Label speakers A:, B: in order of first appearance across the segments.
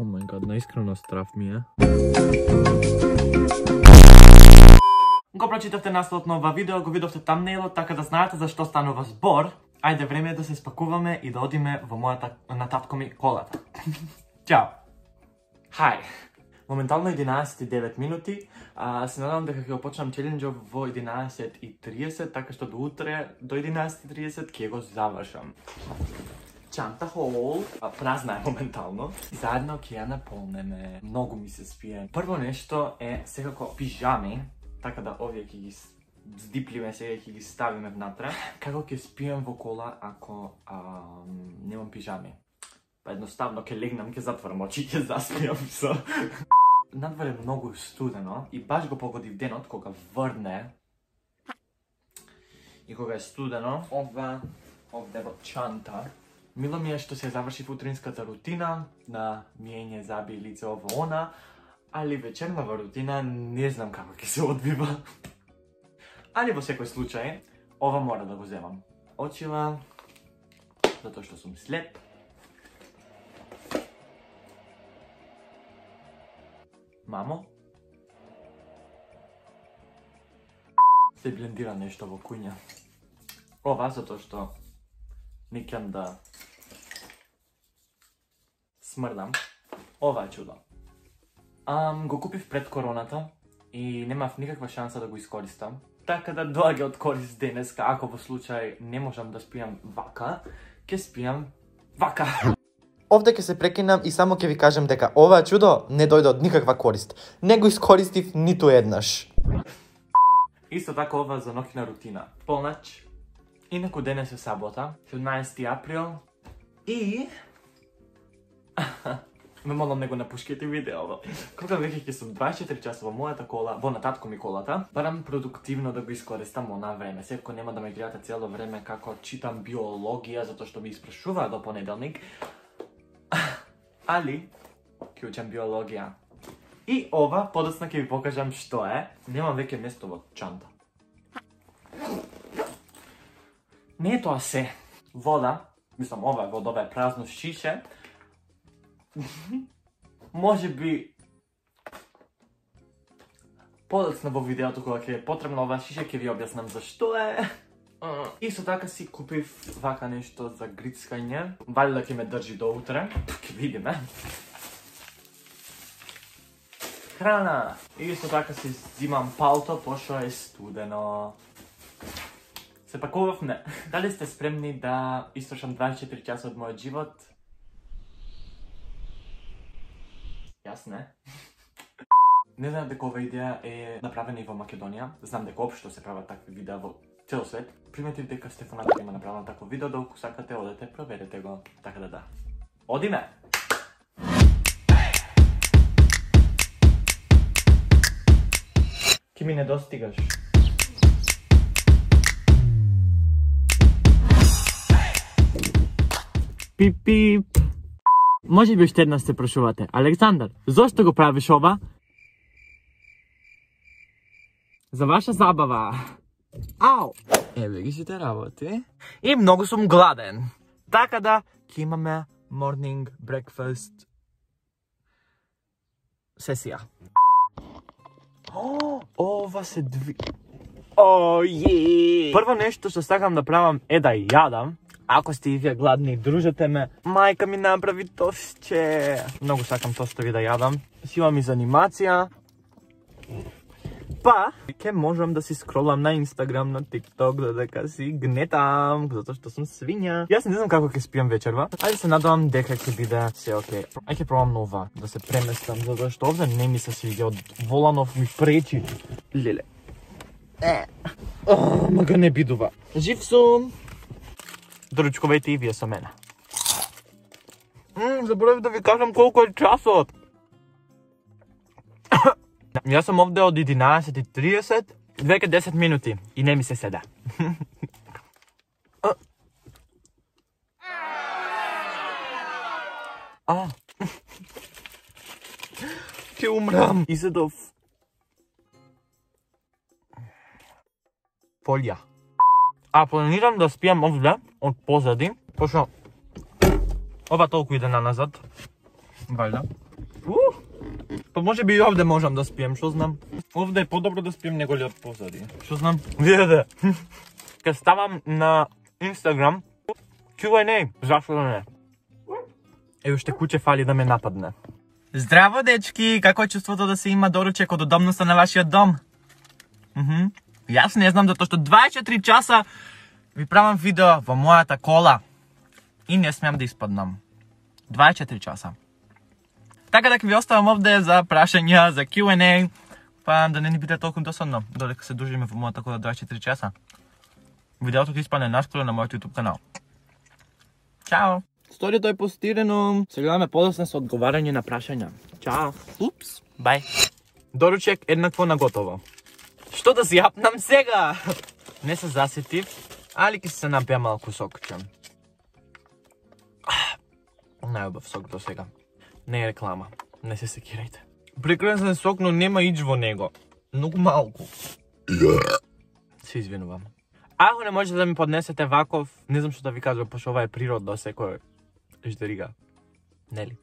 A: my god, наискрено страф ми е. Го прочитавте насловот на ова видео, го видовте тамнейлот, така да знаете за што станува збор. Ајде, време е да се спакуваме и да одиме во мојата на татко ми колата. Ćao! Хај! Моментално 11:09 минути. Се надам дека ќе го почнам челенџот во 11:30, така што до утре до 11:30 ќе го завршам. Чанта хол, празна е моментално. Заедно ќе ја наполнеме. Многу ми се спие. Прво нешто е секако пижами, така да овие ќе ги здипливе сега ќе ги ставиме внатре. Како ќе спием во кола ако немам пижами? Па едноставно ќе легнам, ќе затворам очи и ќе заспиам со. Надвор е многу студено и баш го погодив денот кога врне и кога е студено. Ова овде во чанта. Мило ми е што се заврши утринската рутина на миење заби лице ово она, али вечернава рутина не знам како ќе се одвива. Али во секој случај, ова мора да го земам. Очила, затоа што сум слеп. Мамо? Се блендира нешто во куња. Ова затоа што не кем да смрдам. Ова е чудо. Го купив пред короната и немав никаква шанса да го искористам. Така да доаѓа од корист денеска, ако во случај не можам да спијам вака, ќе спијам вака.
B: Овде ќе се прекинам и само ќе ви кажам дека ова чудо не дојде од никаква корист. Не го искористив ниту еднаш.
A: Исто така ова за ноќна рутина. Полнач. Инаку денес е сабота, 17 април. И... ме молам не го напушките видео. Кога веќе ќе сум 24 часа во мојата кола, во на татко ми колата, барам продуктивно да го искористам она време. Секако нема да ме гледате цело време како читам биологија, затоа што ми испрашуваа до понеделник. Али, ќе учам биологија. И ова, подоцна ќе ви покажам што е. Немам веќе место во чанта. Не е тоа се. Вода, мислам ова е вода, ова е празно шише. Може би подоцна во видеото кога ќе е потребно ова шише ќе ви објаснам зашто е. Исто така си купив вака нешто за грицкање. Валјда ќе ме држи до утре. Ќе видиме. Храна. Исто така си зимам палто пошто е студено. Се пакував не. Дали сте спремни да истрошам 24 часа од мојот живот? Јас не. Не знам дека ова идеја е направена и во Македонија. Знам дека општо се прават такви видеа во цел свет. Приметив дека Стефаната има направено такво видео, да ако сакате одете, проверете го. Така да. Одиме! Ки ми не достигаш. Пип-пип. Може би уште една се прашувате. Александар, зошто го правиш ова? За ваша забава. Ау! Еве ги сите работи. И многу сум гладен. Така да, ќе имаме morning breakfast сесија. Ова се Прво нешто што сакам да правам е да јадам. Ако сте и вие гладни, дружете ме. Мајка ми направи тостче. Многу сакам тостови да јадам. Си имам и за анимација. Па, ќе можам да си скролам на Инстаграм, на ТикТок, додека си гнетам, затоа што сум свиња. Јас не знам како ќе спијам вечерва, али се надевам дека ќе биде се окей. Ај ќе пробам нова, да се преместам, затоа што овде не ми се свиѓа, од Воланов ми пречи. Леле. Мага не бидува. Жив сум. Доручкувајте и вие со мене. Заборавив да ви кажам колку е часот. Јас сум овде од 11:30, веќе 10 минути и не ми се седа. Ќе умрам. Изедов фолија. Планирам да спијам овде од позади, пошто ова толку иде на назад. Валјда. Па може би и овде можам да спием, што знам. Овде е подобро да спием него ли од позади. Што знам? Видете. Ке ставам на Instagram Q&A, зашто да не? Ево уште куче фали да ме нападне. Здраво, дечки! Како е чувството да се има доручек од удобноста на вашиот дом? Јас не знам, затоа што 24 часа ви правам видео во мојата кола и не смеам да испаднам. 24 часа. Така да ќе ви оставам овде за прашања, за Q&A, па да не ни биде толку досадно, додека се дружиме во мојата кола 24 часа. Видеото ќе испадне наскоро на мојот YouTube канал. Чао! Сторието е постирено. Се гледаме подоцна со одговарање на прашања. Чао! Упс! Бај! Доручек еднакво наготово. Што да си јапнам сега? Не се засетив, али ќе се напија малку сокче. Најубав сок до сега. Не е реклама. Не се секирајте. Прекрасен сок, но нема ич во него. Многу малку. Се извинувам. Ако не можете да ми поднесете ваков, не знам што да ви кажам, пошто ова е природно секој ждерига. Нели?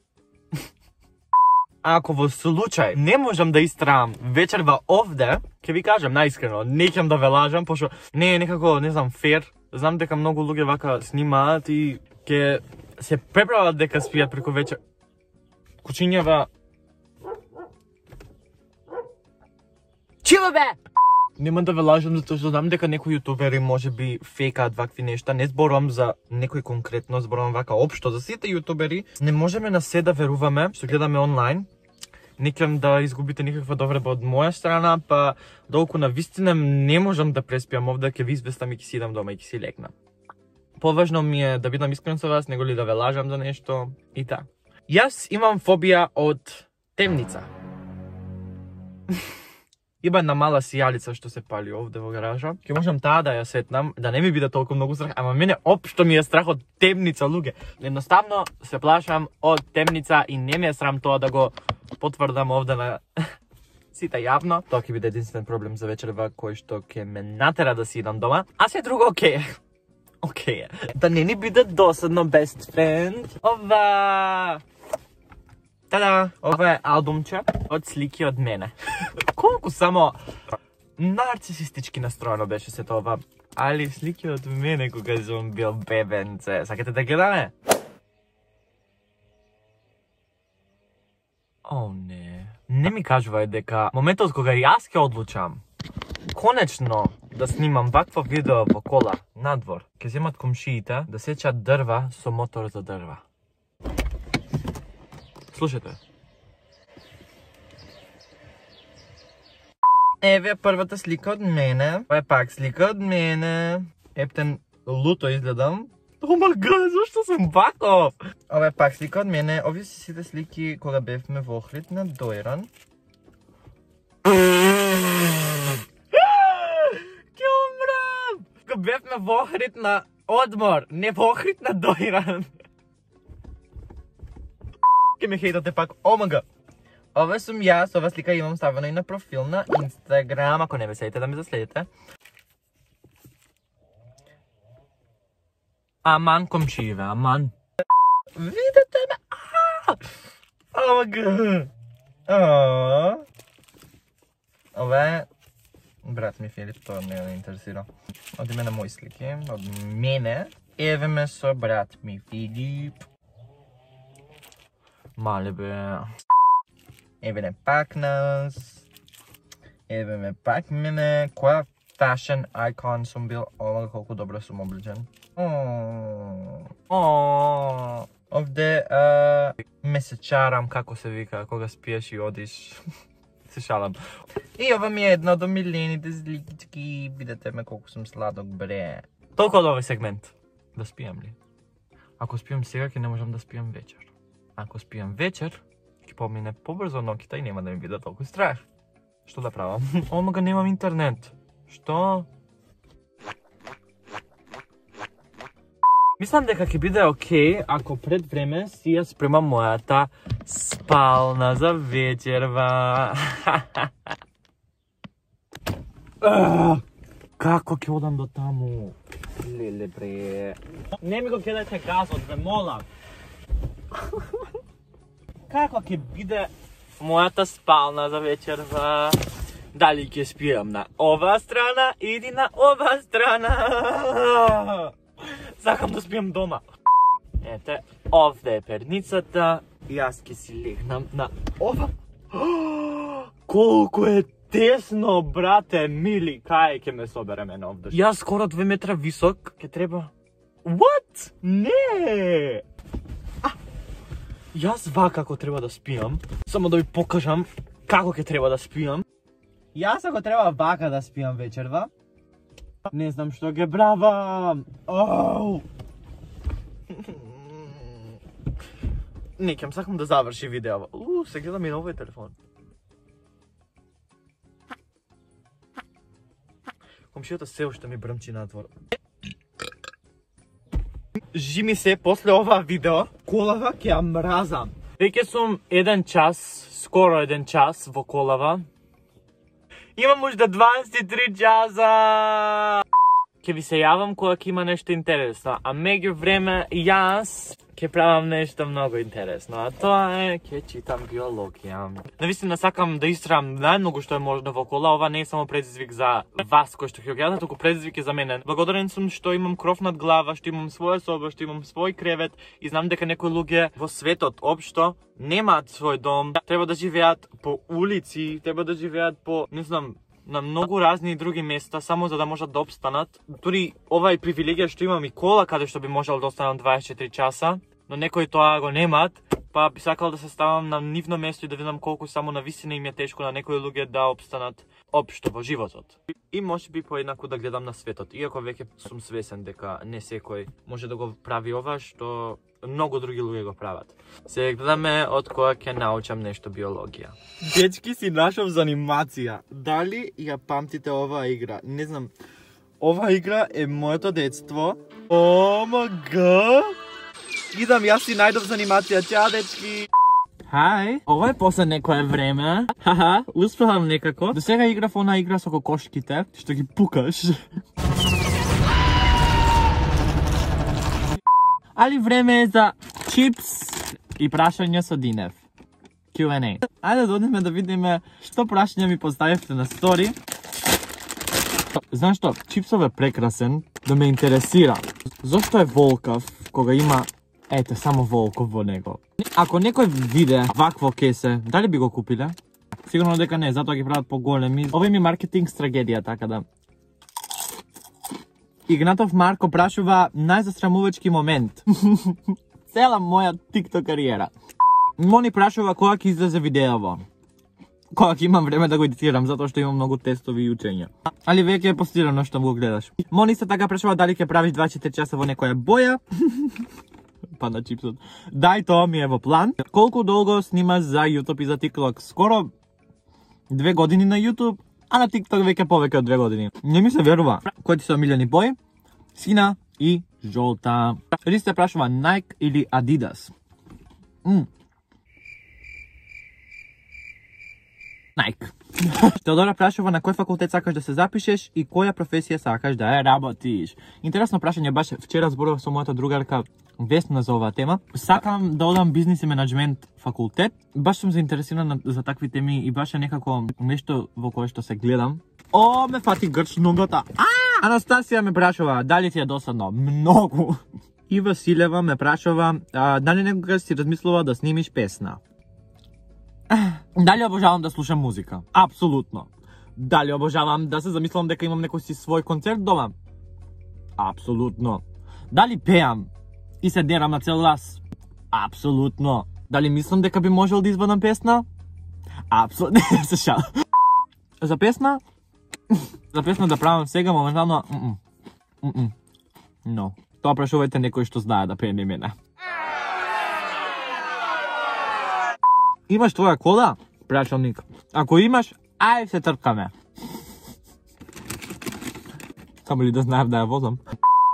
A: Ако во случај не можам да истраам вечерва овде, ќе ви кажам наискрено, не ќе да ве лажам, пошто не е некако, не знам, фер. Знам дека многу луѓе вака снимаат и ќе се преправат дека спијат преку вечер. Кучињава... Чива бе! Нема да ве лажам затоа што знам дека некои јутубери можеби фейкаат вакви нешта. Не зборувам за некој конкретно, зборувам вака општо за сите јутубери. Не можеме на се да веруваме што гледаме онлайн. Не кем да изгубите никаква довреба од моја страна, па долку на вистина не можам да преспиам овде, ќе ви известам и ќе си идам дома и ќе си легнам. Поважно ми е да бидам искрен со вас, него ли да ве лажам за нешто и та. Јас имам фобија од темница. Има една мала сијалица што се пали овде во гаража. Ќе можам таа да ја сетнам, да не ми биде толку многу страх, ама мене општо ми е страх од темница, луѓе. Едноставно се плашам од темница и не ми е срам тоа да го потврдам овде на сите јавно. Тоа ќе биде единствен проблем за вечерва кој што ќе ме натера да си идам дома, а се друго окей. Окей. Да не ни биде досадно, best friend. Ова... Тада, ова е албумче од слики од мене. Колку само нарцисистички настроено беше се тоа, али слики од мене кога сум бил бебенце. Сакате да гледаме? О, не. Не ми кажувај дека моментот кога јас ќе одлучам конечно да снимам вакво видео во кола надвор, ќе земат комшиите да сечат дрва со мотор за дрва. Слушате. Еве првата слика од мене. Ова е пак слика од мене. Ептен луто изгледам. О ма га, зашто сум ваков? Ова е пак слика од мене. Овие се сите слики кога бевме во Охрид на Дојран. Ке умрам! Кога бевме во Охрид на одмор, не во Охрид на Дојран. Ке ме хейтате пак, омага. Ова сум јас, ова слика имам ставено и на профил на Инстаграм, ако не ме следите да ме заследите. Аман комшиеве, аман. Видете ме, омага. Ова е брат ми Филип, тоа не ме интересира. Од име на мои слики, од мене. Еве ме со брат ми Филип. Мале бе. Еве не пак нас. Еве ме пак мене. Која fashion icon сум бил. Ова колку добро сум облечен. Овде ме се чарам, како се вика, кога спиеш и одиш. Се шалам. И ова ми е една од омилените сликички. Видете ме колку сум сладок, бре. Толку од овој сегмент. Да спијам ли? Ако спијам сега, ќе не можам да спијам вечер. Ако спијам вечер, ќе помине побрзо ноќта и нема да ми биде толку страх. Што да правам? Омага, немам интернет. Што? Мислам дека ќе биде окей ако пред време си ја спремам мојата спална за вечерва. Како ќе одам до таму? Леле бре. Не ми го кидајте газот, бе, молам. Како ќе биде мојата спална за вечерва. Дали ќе спијам на ова страна или на ова страна? Сакам да спијам дома. Ете, овде е перницата и јас ќе си легнам на ова. Колку е тесно, брате, мили, кај ќе ме собереме на овде. Јас скоро 2 метра висок, ќе треба... What? Не! Јас вака како треба да спијам, само да ви покажам како ќе треба да спијам. Јас ако треба вака да спијам вечерва, не знам што ќе правам. Не, ќе сакам да заврши видео. Се гледам и на овој телефон. Комшијата се уште ми брмчи надвор. Жими се после ова видео, колава ќе ја мразам. Веќе сум 1 час, скоро 1 час во колава. Имам уште 23 часа. Ќе ви се јавам кога ќе има нешто интересно, а меѓу време јас ќе правам нешто многу интересно, а тоа е ќе читам биологија. Навистина сакам да истрам најмногу што е можно во кола. Ова не е само предизвик за вас кои што ќе гледате, туку предизвик е за мене. Благодарен сум што имам кров над глава, што имам своја соба, што имам свој кревет и знам дека некои луѓе во светот општо немаат свој дом, треба да живеат по улици, треба да живеат по, не знам, на многу разни други места, само за да можат да обстанат. Дури ова е привилегија што имам и кола каде што би можел да останам 24 часа, но некои тоа го немаат, па би сакал да се ставам на нивно место и да видам колку само на висина им е тешко на некои луѓе да обстанат општо во животот. И можеби поеднакво да гледам на светот, иако веќе сум свесен дека не секој може да го прави ова што многу други луѓе го прават. Се гледаме од кога ќе научам нешто биологија. Дечки, си нашов за анимација. Дали ја памтите оваа игра? Не знам. Оваа игра е моето детство. О, мага! Идам, јас си најдов за анимација. Чао, дечки! Хај, ова е после некое време. Хаха, успевам некако. До сега играв она игра со кокошките, што ги пукаш. Али време е за чипс и прашање со Динев. Q&A. Ајде да одиме да видиме што прашање ми поставивте на стори. Знаеш што, чипсов е прекрасен, да ме интересира. Зошто е волкав кога има, ете, само волков во него? Ако некој виде вакво кесе, дали би го купиле? Сигурно дека не, затоа ги прават поголеми. Ова им е маркетинг стратегија, така да. Игнатов Марко прашува најзастрамувачки момент. Цела моја TikTok кариера. Мони прашува кога ќе излезе видеово. Кога ќе имам време да го едитирам, затоа што имам многу тестови и учења. Али веќе е постирано што го гледаш. Мони се така прашува дали ќе правиш 24 часа во некоја боја. Па на чипсот. Дај, тоа ми е во план. Колку долго снимаш за YouTube и за TikTok? Скоро 2 години на YouTube, а на TikTok веќе повеќе од 2 години. Не ми се верува. Кои ти се омилени бои? Сина и жолта. Ристе прашува Nike или Adidas? Nike. Теодора прашува на кој факултет сакаш да се запишеш и која професија сакаш да ја работиш. Интересно прашање, баш вчера зборував со мојата другарка Весна за оваа тема. Сакам да одам бизнис и менеджмент факултет. Баш сум заинтересирана за такви теми и баш е некако нешто во кое што се гледам. О, ме фати грч ногата. Анастасија ме прашува дали ти е досадно. Многу. И Василева ме прашува дали некогаш си размислува да снимиш песна. Дали обожавам да слушам музика? Апсолутно. Дали обожавам да се замислам дека имам некој си свој концерт дома? Апсолутно. Дали пеам и се дерам на цел глас? Апсолутно. Дали мислам дека би можел да извадам песна? Апсолутно. Се шал. За песна? За песна да правам сега моментално? Но. Тоа прашувајте некој што знае да пее не мене. Имаш твоја кола? Прашалник. Ако имаш, ај се тркаме. Само ли да знаев да ја возам?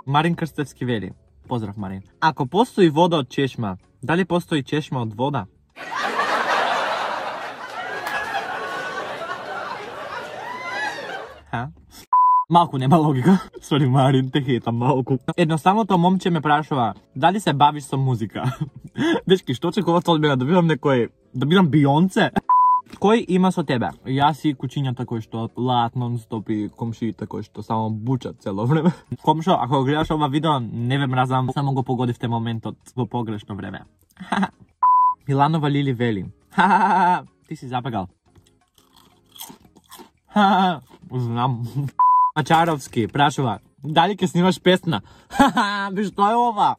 A: Марин Крстевски вели. Поздрав, Марин. Ако постои вода од чешма, дали постои чешма од вода? Малку нема логика. Сори, Марин, те хейтам малку. Едноставното момче ме прашува, дали се бавиш со музика? Дечки, што очекувате од мене, да бидам некој... да бидам Бионце? Кој има со тебе? Јас и кучињата кои што лаат нон-стоп и комшиите кои што само бучат цело време. Комшо, ако гледаш ова видео, не ве мразам, само го погодивте моментот во погрешно време. Миланова Лили вели. Ти си забегал. Знам. Мачаровски прашува, дали ќе снимаш песна? Би што е ова?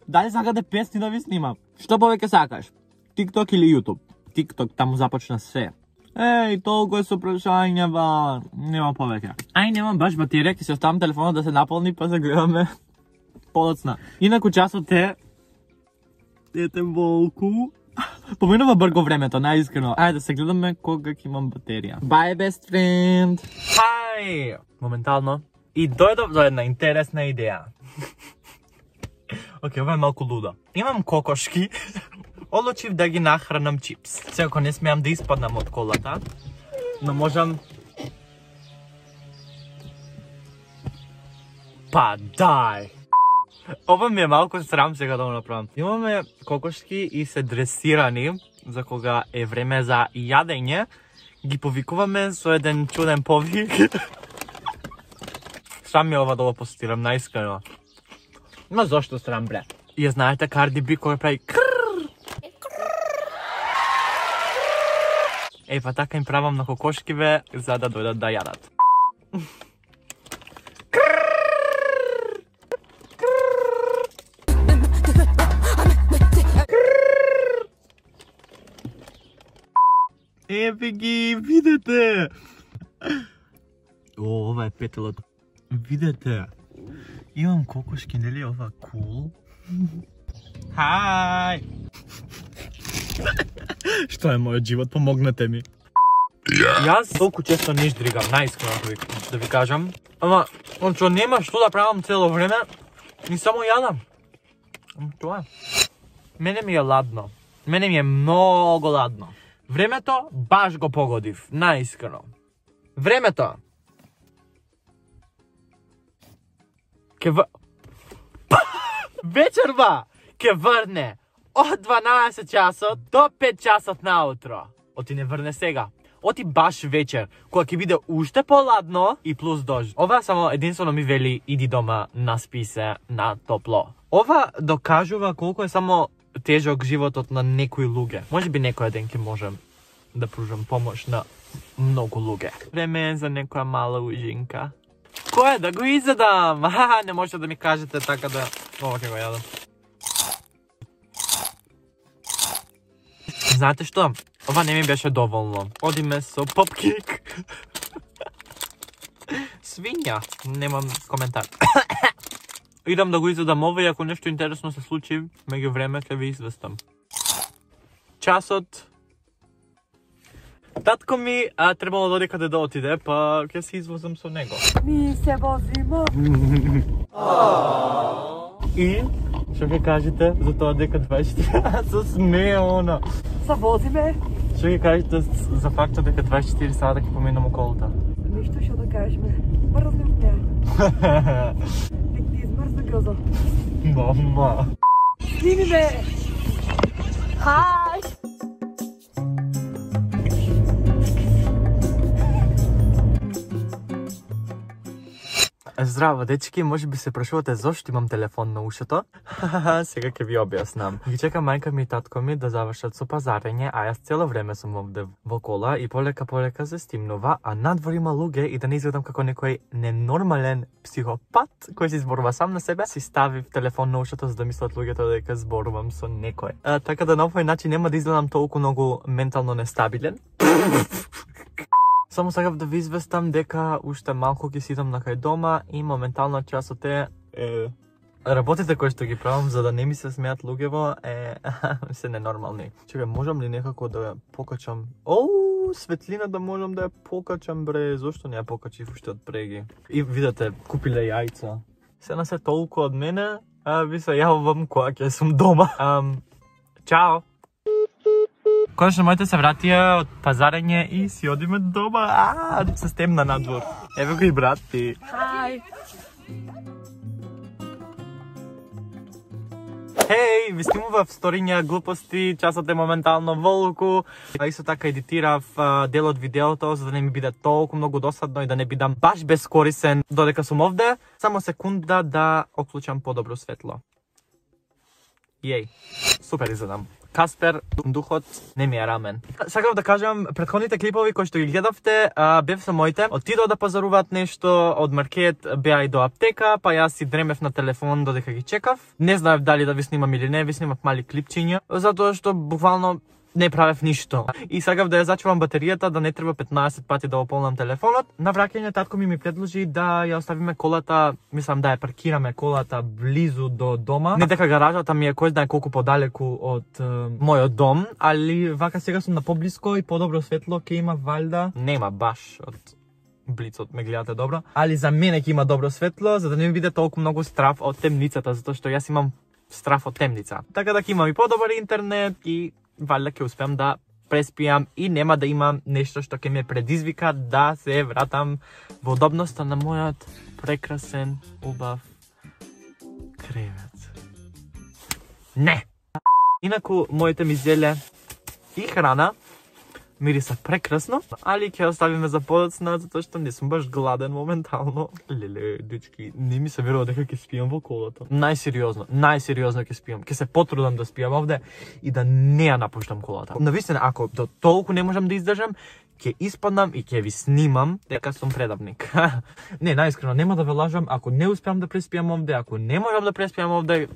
A: Дали сакате песни да ви снимам? Што повеќе сакаш? TikTok или YouTube? TikTok, таму започна се. Еј, толку е со прашања, ба. Нема повеќе. Ај, немам баш батерија, ќе се оставам телефонот да се наполни, па се гледаме подоцна. Инаку часот е... Ете волку. Поминува брго времето, најискрено. Ајде да се гледаме кога ќе имам батерија. Bye, best friend! Хај! Моментално. И дојдов до една интересна идеја. Океј, ова е малку луда. Имам кокошки. Одлучив да ги нахранам чипс. Секако не смеам да испаднам од колата, но можам... Па дај! Ова ми е малку срам сега да го направам. Имаме кокошки и се дресирани за кога е време за јадење. Ги повикуваме со еден чуден повик. Срам ми ова да го постирам, наискрено. Ма зошто срам, бре? И ја знаете Карди Би кој прави Еј, па така им правам на кокошкиве за да дојдат да јадат. Еве ги, видете! О, ова е петелото. Видете, имам кокошки, нели ова кул? Хај! Што е мојот живот, помогнете ми. Јас толку често не ждригам, најискрено да ви кажам. Ама, што нема што да правам цело време, и само јадам. Тоа е. Мене ми е ладно. Мене ми е многу ладно. Времето баш го погодив, најискрено. Времето. Вечерва ке врне од 12 часот до 5 часот наутро. Оти не врне сега. Оти баш вечер, кога ќе биде уште поладно и плюс дожд. Ова само единствено ми вели иди дома, наспи се на топло. Ова докажува колку е само тежок животот на некои луѓе. Може би некој ден ќе можем да пружам помош на многу луѓе. Време е за некоја мала ужинка. Кој е да го изедам? Не можете да ми кажете така да... Ова ќе го јадам. Знаете што? Ова не ми беше доволно. Одиме со попкейк. Свиња. Немам коментар. Идам да го изедам ова и ако нешто интересно се случи, меѓу време ќе ви известам. Часот. Татко ми требало да оди каде да отиде, па ќе се извозам со него.
C: Ми се возиме.
A: И што ќе кажете за тоа дека 24 се смее она.
C: Се возиме?
A: Што ќе кажете за фактот дека 24 сата ќе поминам околута?
C: Ништо што да кажеме. Мрзнем те. Нек ти измрзна грозо.
A: Мама.
C: Сними ме. Хај.
A: Здраво, дечки, може би се прашувате зошто имам телефон на ушето. Сега ќе ви објаснам. Ги чека мајка ми и татко ми да завршат со пазарење, а јас цело време сум овде во кола и полека се стимнува, а надвор има луѓе и да не изгледам како некој ненормален психопат кој се изборува сам на себе, си ставив телефон на ушето за да мислат луѓето дека зборувам со некој. Така да на овој начин нема да изгледам толку многу ментално нестабилен. Само сакав да ви известам дека уште малку ќе сидам на кај дома и моментално часот е... Работите кои што ги правам за да не ми се смеат луѓево се ненормални. Чекај, можам ли некако да ја покачам? Оу, светлина да можам да ја покачам, бре, зошто не ја покачив уште од преги? И видете, купиле јајца. Се на се толку од мене, ви се јавувам кога ќе сум дома. Чао! Конечно, моите се вратија од пазарење и си одиме дома. Се стемна надвор. Еве го и брат ти.
C: Хај.
A: Хеј, ви снимував сториња глупости, часот е моментално во луку. Исто така едитирав дел од видеото за да не ми биде толку многу досадно и да не бидам баш бескорисен додека сум овде. Само секунда да оклучам подобро светло. Јеј, супер изгледам. Каспер, духот не ми е рамен. Сакав да кажам, претходните клипови кои што ги гледавте, бев со моите. Отидоа да пазаруваат нешто, од маркет беа и до аптека, па јас си дремев на телефон додека ги чекав. Не знаев дали да ви снимам или не, ви снимав мали клипчиња, затоа што буквално не правев ништо. И сакав да ја зачувам батеријата, да не треба 15 пати да ополнам телефонот. На враќање татко ми предложи да ја оставиме колата, мислам да ја паркираме колата близу до дома. Не дека гаражата ми е кој знае колку подалеку од мојот дом, али вака сега сум на поблиско и подобро светло ќе има валјда. Нема баш од блицот, ме гледате добро. Али за мене ќе има добро светло, за да не ми биде толку многу страф од темницата, затоа што јас имам страф од темница. Така да ќе имам и подобар интернет и валјда ќе успеам да преспијам и нема да имам нешто што ќе ме предизвика да се вратам во удобноста на мојот прекрасен, убав кревет. Не! Инаку, моите ми зеле и храна мириса прекрасно, али ќе оставиме за подоцна, затоа што не сум баш гладен моментално. Леле, дечки, не ми се верува дека ќе спијам во колата. Најсериозно ќе спијам. Ќе се потрудам да спијам овде и да не ја напуштам колата. Навистина, ако до толку не можам да издржам, ќе испаднам и ќе ви снимам дека сум предавник. Не, најискрено, нема да ве лажам, ако не успеам да преспијам овде, ако не можам да преспијам овде,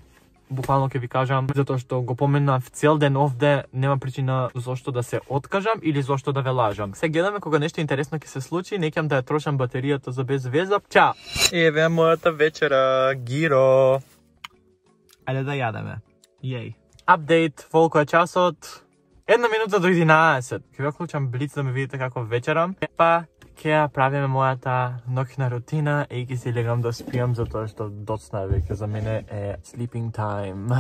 A: буквално ќе ви кажам, затоа што го поменав цел ден овде, нема причина зошто да се откажам или зошто да ве лажам. Се гледаме кога нешто интересно ќе се случи, не ќе да ја трошам батеријата за без веза. Чао! Еве мојата вечера, гиро. Ајде да јадеме. Јеј. Апдейт, волко е часот? 1 минута до 11. Ќе ви оклучам блиц да ме видите како вечерам. Па ќе ја правиме мојата ноќна рутина и ќе си легам да спијам затоа што доцна е веќе за мене е sleeping time.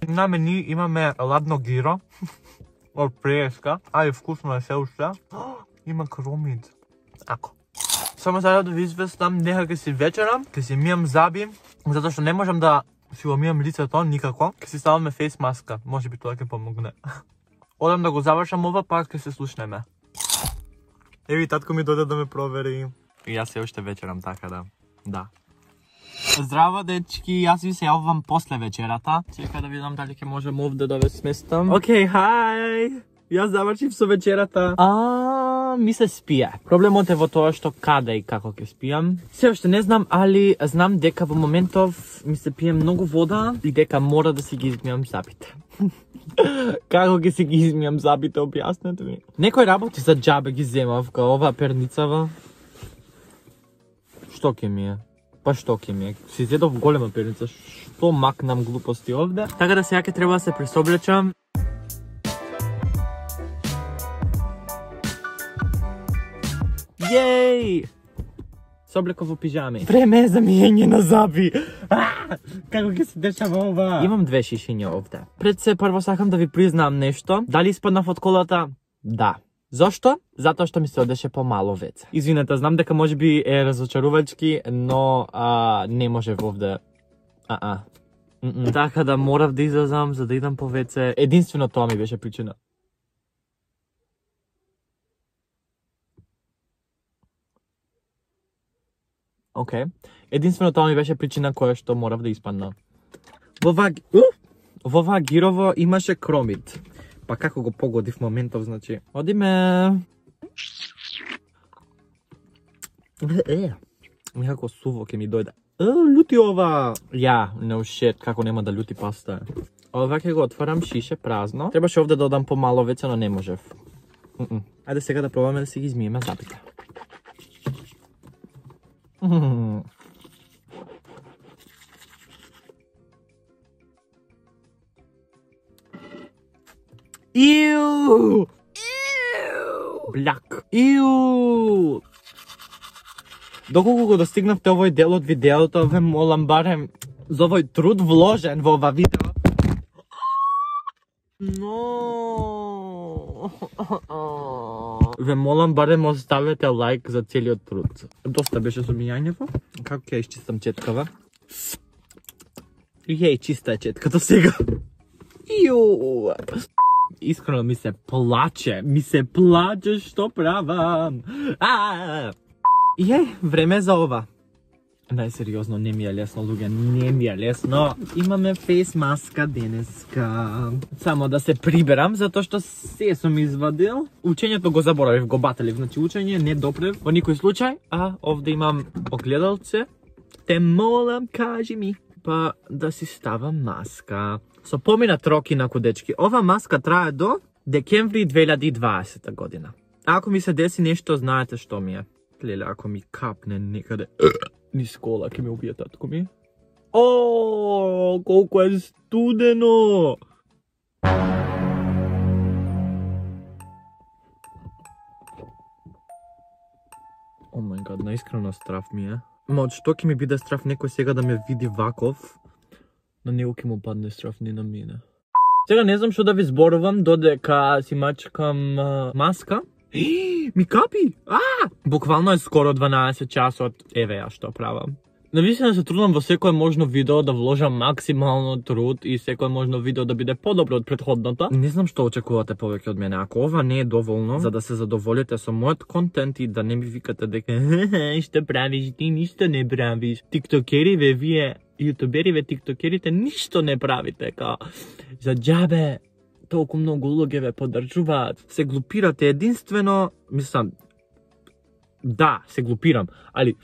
A: На мени имаме ладно гиро од преска, али вкусно е се уште. Има кромид. Ако. Само сега да ви известам, нека ќе си вечерам, ќе си мијам заби, затоа што не можам да си го мијам лицето никако. Ќе си ставаме фейс маска, може би тоа ќе помогне. Одам да го завршам ова, па ќе се слушнеме. Еви, татко ми дојде да ме провери. И јас се уште вечерам, така да. Здраво, дечки, јас ви се јавувам после вечерата. Чека да видам дали ќе можам овде да ве сместам. Океј, хај! Јас завршив со вечерата. Ми се спија. Проблемот е во тоа што каде и како ќе спијам. Се уште не знам, али знам дека во моментов ми се пие многу вода и дека мора да си ги измијам забите. Како ќе си ги измијам забите, објаснете ми. Некој работи за џабе ги земав, као оваа перницава. Што ќе ми е? Па што ќе ми е? Си зедов голема перница, што макнам глупости овде. Така да сега ќе треба да се пресоблечам. Јеј! Се облеков во пижами. Време е за мијање на заби. Како ќе се дешава ова? Имам 2 шишиња овде. Пред се прво сакам да ви признам нешто. Дали испаднав од колата? Да. Зошто? Затоа што ми се одеше помало веце. Извинете, знам дека можеби е разочарувачки, но не можев овде. Така да морав да излезам за да идам по веце. Единствено тоа ми беше причина. Океј. Единствено тоа ми беше причина која што морав да испадна. Во оваа гирово имаше кромид. Па како го погодив моментов, значи. Одиме. Некако суво ќе ми дојде. Лути ова. No shit, како нема да лути паста. Ова ќе го отварам шише празно. Требаше овде да додам помало веќе, но не можев. Ајде сега да пробаме да си ги измиеме забите. Иу! Бляк. Иу! Доколку го достигнавте овој дел од видеото, ве молам барем за овој труд вложен во ова видео. Ве молам барем оставете лайк за целиот труд. Доста беше со мијањето. Како ќе исчистам четкава? Јеј, чиста е четката сега. Ју. Искрено ми се плаче што правам. Јеј, време за ова. Најсериозно, не ми е лесно, луѓе, не ми е лесно. Имаме фейс маска денеска. Само да се приберам, затоа што се сум извадил. Учењето го заборавив, го баталив, значи учење не допрев во никој случај. А овде имам огледалце. Те молам, кажи ми. Па да си ставам маска. Со поминат рок инаку, дечки. Ова маска трае до декември 2020 година. Ако ми се деси нешто, знаете што ми е. Леле, ако ми капне некаде низ кола, ќе ме убие татко ми. О, колку е студено! О мај гад, наискрено страв ми е. Ма од што ќе ми биде страв некој сега да ме види ваков? На него ќе му падне страв, не на мене. Сега не знам што да ви зборувам, додека си мачкам маска. Ми капи! Буквално е скоро 12 часот. Еве ја што правам. Навистина се трудам во секое можно видео да вложам максимално труд и секое можно видео да биде подобро од претходното. Не знам што очекувате повеќе од мене. Ако ова не е доволно за да се задоволите со мојот контент и да не ми викате дека што правиш, ти ништо не правиш. Тиктокериве, вие јутубериве, тиктокерите ништо не правите, као за џабе. Толку многу луѓе ве поддржуваат. Се глупирате единствено, мислам, да, се глупирам, али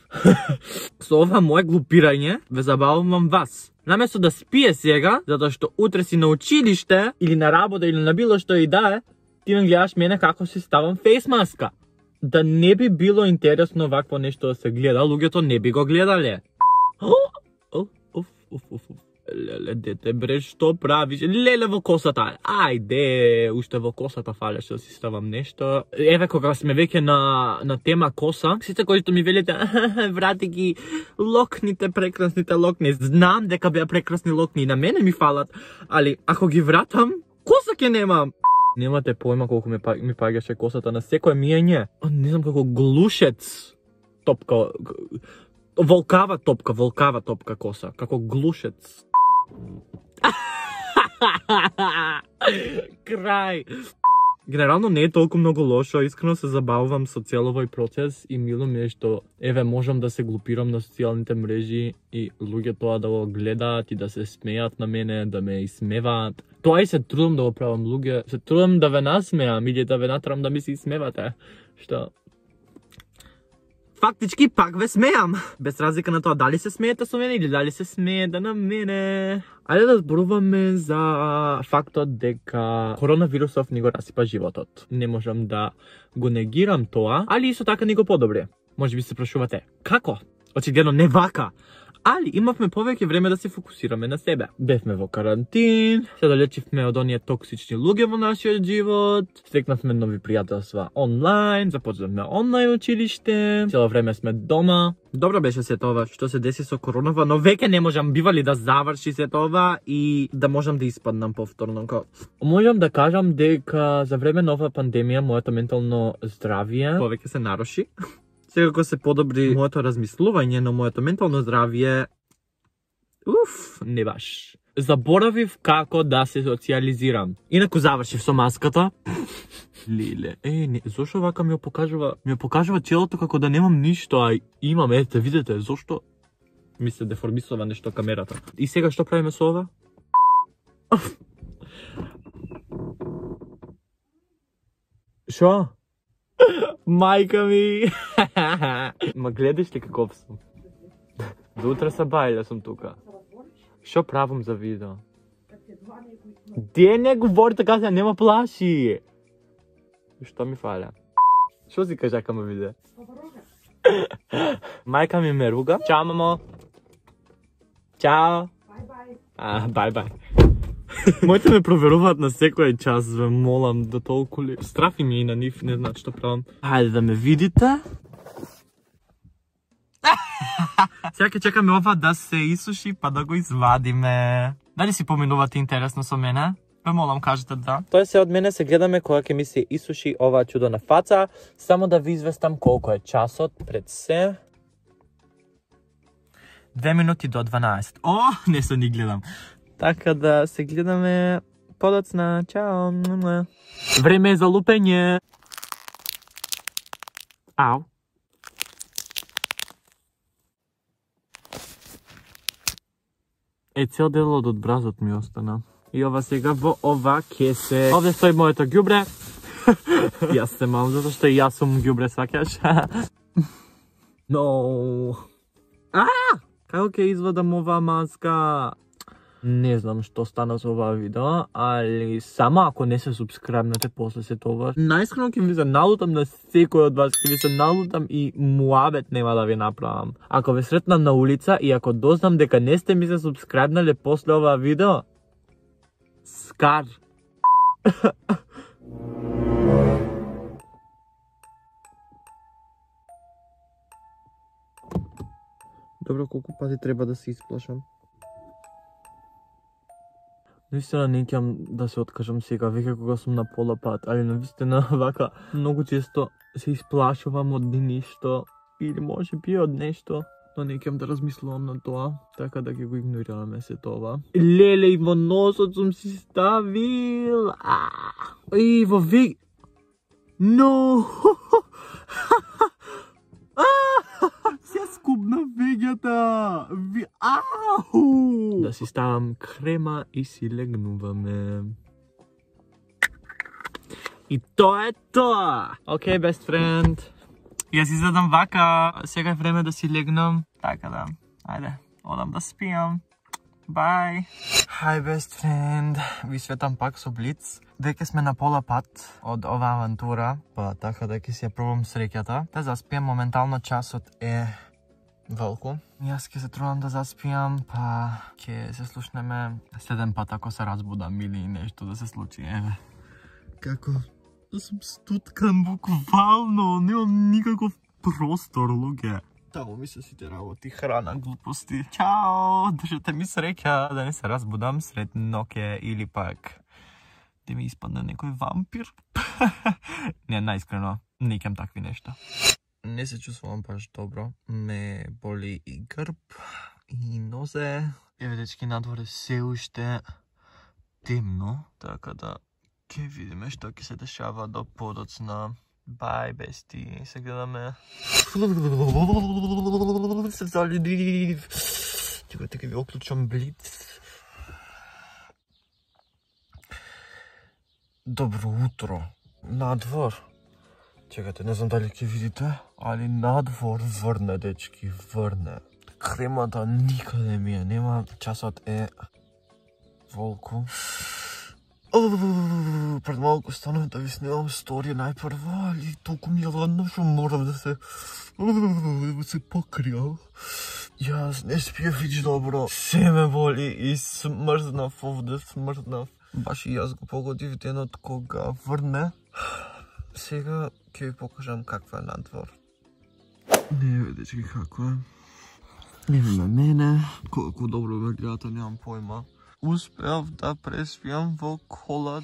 A: со ова моје глупирање ве забавувам вас. Наместо да спие сега, затоа што утре си на училиште или на работа или на било што и да е, ти ме гледаш мене како си ставам фейс маска. Да не би било интересно вакво нешто да се гледа, луѓето не би го гледале. Леле, дете, бре, што правиш? Леле, во косата. Ајде, уште во косата фалеш да си ставам нешто. Еве, кога сме веќе на тема коса, сите кои што ми велите, врати ги локните, прекрасните локни. Знам дека беа прекрасни локни и на мене ми фалат, али ако ги вратам, коса ќе немам. Немате појма колку ми паѓаше косата на секој мијање. Не знам како глушец топка, волкава топка коса, како глушец. Крај. Генерално не е толку многу лошо, искрено се забавувам со цел овој процес и мило ми е што еве можам да се глупирам на социјалните мрежи и луѓе тоа да го гледаат и да се смеат на мене, да ме исмеваат. Тоа и се трудам да го правам, луѓе, се трудам да ве насмеам или да ве натрам да ми се исмевате. Што фактички пак ве смеам. Без разлика на тоа дали се смеете со мене или дали се смеете на мене. Ајде да зборуваме за фактот дека коронавирусов ни го расипа животот. Не можам да го негирам тоа, али исто така ни го подобри. Може би се прашувате, како? Очигледно не вака. Али имавме повеќе време да се фокусираме на себе. Бевме во карантин, се далечивме од оние токсични луѓе во нашиот живот, стекнавме нови пријателства онлайн, започнавме онлайн училиште, цело време сме дома. Добро беше се тоа што се деси со коронава, но веќе не можам бивали да заврши се тоа и да можам да испаднам повторно. Можам да кажам дека за време на оваа пандемија моето ментално здравје повеќе се наруши. Секако се подобри моето размислување, но моето ментално здравје не баш. Заборавив како да се социјализирам. Инаку завршив со маската. Леле, не, зошто вака ми покажува челото како да немам ништо, а имам, ете, видите, зошто ми се деформисува нешто камерата. И сега што правиме со ова? Шо? Мајка ми! Ма гледаш ли каков сум? До утре са бајле сум тука. Шо правам за видео? Де не говори така, се нема плаши! Што ми фаля? Шо си кажа ка ме виде? Мајка ми ме руга. Чао, мамо! Чао! Бај-бај. Моите ме проверуваат на секој час, ве молам, да толку ли. Страфи ми и на нив, не знаат што правам. Хајде да ме видите. Сега ќе чекаме ова да се исуши, па да го извадиме. Дали си поминувате интересно со мене? Ве молам, кажете да. Тоа се од мене, се гледаме кога ќе ми се исуши оваа чудо на фаца. Само да ви известам колку е часот пред се. 2 минути до 12. О, не се ни гледам. Така да се гледаме подоцна. Чао. Време е за лупење. Ау. Цел делот од бразот ми остана. И ова сега во ова кесе. Овде стои моето ѓубре. Јас се мам, затоа што и јас сум ѓубре, сваќаш? No. Како ќе извадам оваа маска? Не знам што стана со оваа видео, али само ако не се субскрайбнете после се тоа. Најскрено ќе ви се налутам на секој од вас, ќе ви се налутам и муабет нема да ви направам. Ако ве сретнам на улица и ако дознам дека не сте ми се субскрайбнале после оваа видео, скар. Добро, колку пати треба да се исплашам? Наистина не ќам да се откажам сега, веќе кога сум на пола пат, али навистина вака многу често се исплашувам од нешто или може би од нешто, но не ќам да размислувам на тоа, така да ќе го игнорираме се тоа. Леле, и во носот сум си ставил. И во веќе... Но! Се скубна веѓата! Ау! Да си ставам крема и си легнуваме. И тоа е тоа! Океј, best friend. Јас изгледам вака. Сега е време да си легнам. Така да. Ајде, одам да спијам. Bye. Hi, best friend. Ви светам пак со блиц. Веќе сме на пола пат од оваа авантура, па така да ќе си ја пробам среќата. Да заспијам, моментално часот е волку. Јас ќе се трудам да заспијам, па ќе се слушнеме следен пат ако се разбудам или нешто да се случи. Еве. Како сум стуткан буквално, немам никаков простор, луѓе. Таму ми се сите работи, храна, глупости. Чао, држете ми среќа да не се разбудам сред ноќе или пак да ми испадне некој вампир. Не, најискрено, не ќам такви нешта. Не се чувствувам баш добро. Ме боли и грб, и нозе. Еве, дечки, надвор е се уште темно, така да ќе видиме што ќе се дешава до подоцна. Бај, бести, се гледаме. Се залюбив. Чекайте, ќе ви оклучам блиц. Добро утро. Надвор. Чекайте, не знам дали ќе видите, али надвор врне, дечки, врне. Кремата никаде ми е, нема, часот е волку. Пред малку станав да ви снимам сторија најпрво, али толку ми е ладно што морам да се покријам. Јас не спиев вич добро. Се ме боли и смрзнав овде, смрзнав. Баш и јас го погодив денот кога врне. Сега ќе ви покажам каква е надвор. Не видите како е. Нема мене. Колку добро ме гледате, немам појма. Успеав да преспијам во кола.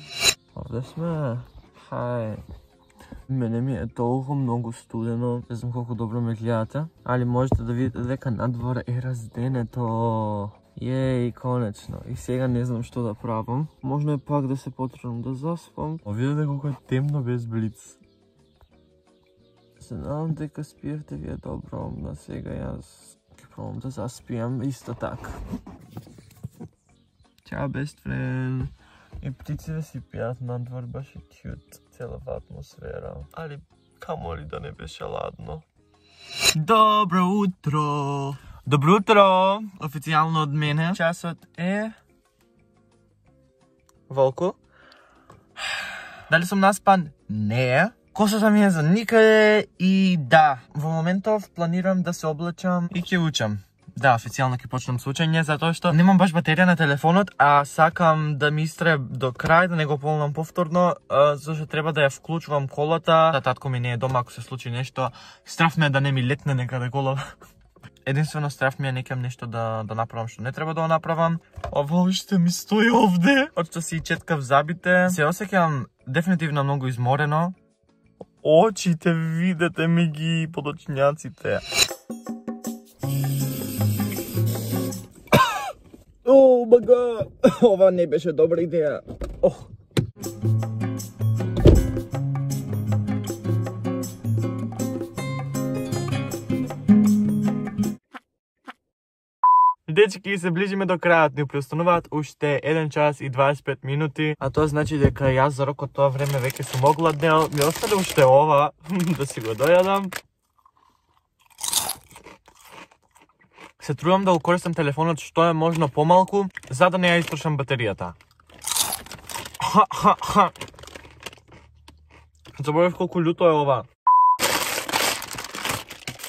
A: Овде сме. Хај. Мене ми е толку многу студено. Не знам колку добро ме гледате, али можете да видите дека надвор е разденето. Јеј, конечно. И сега не знам што да правам. Можно е пак да се потрудам да заспам. Видете колку е темно без блиц. Се надам дека спиевте ви е добро, но сега јас ќе пробам да заспијам исто така. Чао, best friend. И птиците си пијат надвор, баш е кјут. Целава атмосфера. Али камо ли да не беше ладно. Добро утро! Добро утро! Официјално од мене. Часот е... Волку? Дали сум наспан? Не. Косата ми е за никаде и да. Во моментов планирам да се облачам и ќе учам. Да, официјално ќе почнам со учење, затоа што немам баш батерија на телефонот, а сакам да ми истрае до крај, да не го полнам повторно, зашто треба да ја вклучувам колата. Да, татко ми не е дома, ако се случи нешто. Страф ме да не ми летне некаде кола. Единствено страф ми е некам нешто да направам што не треба да го направам. Ова уште ми стои овде. Од што си четкав забите. Се осеќам дефинитивно многу изморено. Очите, видете ми ги подочњаците. О, бага! Ова не беше добра идеја. Ох. Дечки, се ближиме до крајот, ни преустануваат уште 1 час и 25 минути, а тоа значи дека јас за рокот тоа време веќе сум огладнел, ми остане уште ова, да си го дојадам. Се трудам да го користам телефонот што е можно помалку, за да не ја истрошам батеријата. Заборев колку љуто е ова.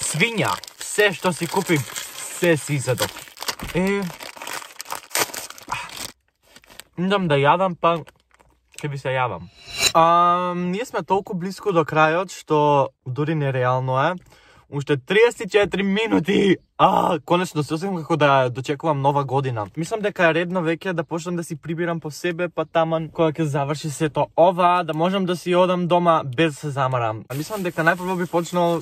A: Свиња, се што си купи, се си изедов. Идам да јадам, па ќе би се јавам. Ние сме толку близко до крајот, што дури нереално е. Уште 34 минути! Конечно се осеќам како да дочекувам нова година. Мислам дека е редно веќе да почнам да си прибирам по себе, па таман кога ќе заврши сето ова, да можам да си одам дома без да се замарам. Мислам дека најпрво би почнал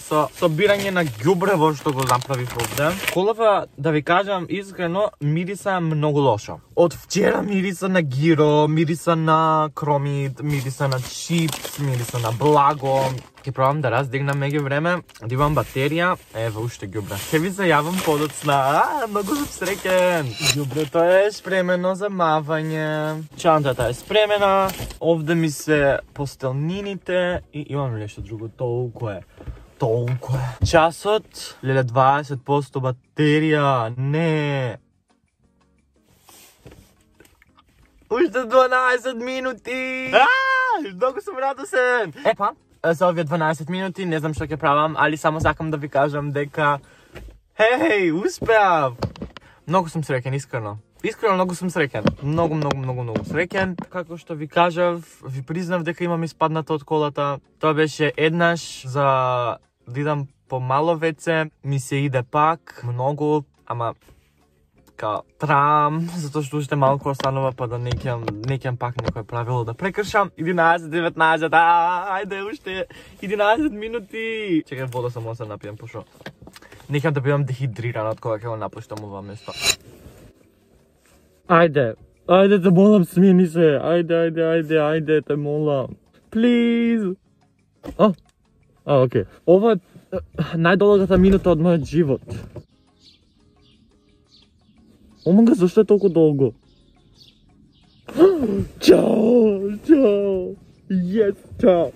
A: со собирање на ѓубрево што го направив овде. Колава, да ви кажам искрено, мириса многу лошо. Од вчера мириса на гиро, мириса на кромит, мириса на чипс, мириса на благо. Ќе пробам да раздигнам меѓу време, да имам батерија. Ева уште ѓубре. Ќе ви се јавам подоцна. Многу сум среќен. Ѓубрето е спремено за мавање. Чантата е спремена. Овде ми се постелнините и имам нешто друго. Толку е. Часот, леле 20% батерија, не. Уште 12 минути. Многу сум радосен. Епа, за овие 12 минути не знам што ќе правам, али само сакам да ви кажам дека хеј, успеав. Многу сум среќен, искрено. Искрено многу сум среќен. Многу среќен. Како што ви кажав, ви признав дека имам испаднато од колата. Тоа беше еднаш за да идам помало веќе, ми се иде пак, многу, ама као трам, затоа што уште малку останува, па да не ќе пак некој правило да прекршам. 11, 19, ајде уште 11 минути. Чекај, вода само се напијам, пошо не ќе да бидам дехидриран од кога ќе го напуштам ова место. Ајде, те молам, смени се. Ајде, те молам. Please. Окей. Ова е најдолгата минута од мојот живот. Омага, зашто е толку долго? Чао! Yes, чао!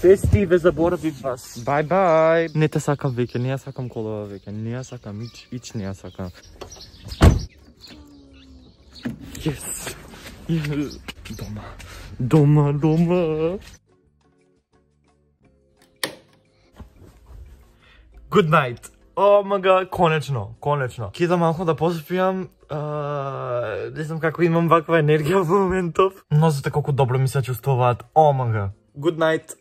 A: Без ти ве заборавив вас.
B: Bye.
A: Не те сакам веќе, не ја сакам колова веќе, не ја сакам, ич не ја сакам. Yes! Дома. Good night. О, мага, конечно. Ке да малку да поспијам. Не знам како имам ваква енергија во моментов. Нозете колку добро ми се чувствуваат. О, мага. Good night.